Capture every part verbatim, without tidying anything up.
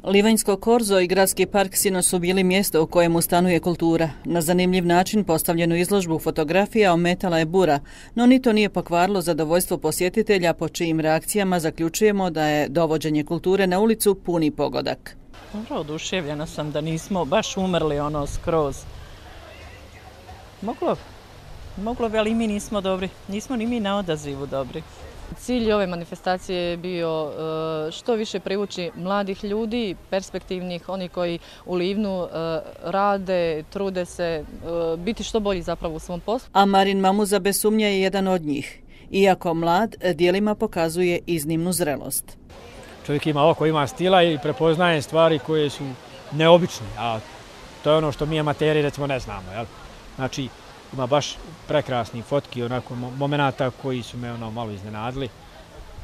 Livanjsko korzo i gradski park sinoć su bili mjesto u kojemu stanuje kultura. Na zanimljiv način postavljenu izložbu fotografija ometala je bura, no ni to nije pokvarilo zadovoljstvo posjetitelja, po čijim reakcijama zaključujemo da je dovođenje kulture na ulicu puni pogodak. Dobro, oduševljena sam da nismo baš umrli ono skroz. Moglo, moglo bi, ali i mi nismo dobri. Nismo ni mi na odazivu dobri. Cilj ove manifestacije je bio što više privući mladih ljudi, perspektivnih, oni koji u Livnu rade, trude se, biti što bolji zapravo u svom poslu. A Marin Mamuza bez sumnje je jedan od njih. Iako mlad, djelima pokazuje iznimnu zrelost. Čovjek ima oko, ima stila i prepoznaje stvari koje su neobične, a to je ono što mi amateri recimo ne znamo. Jel? Znači, ima baš prekrasni fotki, onako momenata koji su me ono malo iznenadili,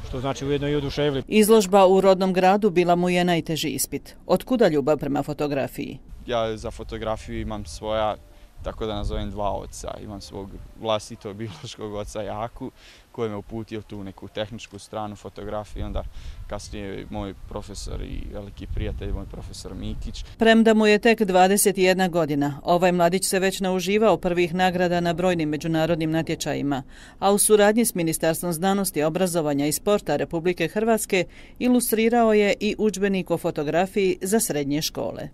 što znači ujedno i oduševili. Izložba u rodnom gradu bila mu je najteži ispit. Otkuda ljubav prema fotografiji? Ja za fotografiju imam svoja, tako da nazovem, dva oca. Imam svog vlastitog biološkog oca Jaku, koji me uputio tu neku tehničku stranu fotografije, onda kasnije moj profesor i veliki prijatelj, moj profesor Mikić. Premda mu je tek dvadeset jedna godina, ovaj mladić se već nauživao prvih nagrada na brojnim međunarodnim natječajima, a u suradnji s Ministarstvom znanosti, obrazovanja i sporta Republike Hrvatske ilustrirao je i udžbenik o fotografiji za srednje škole.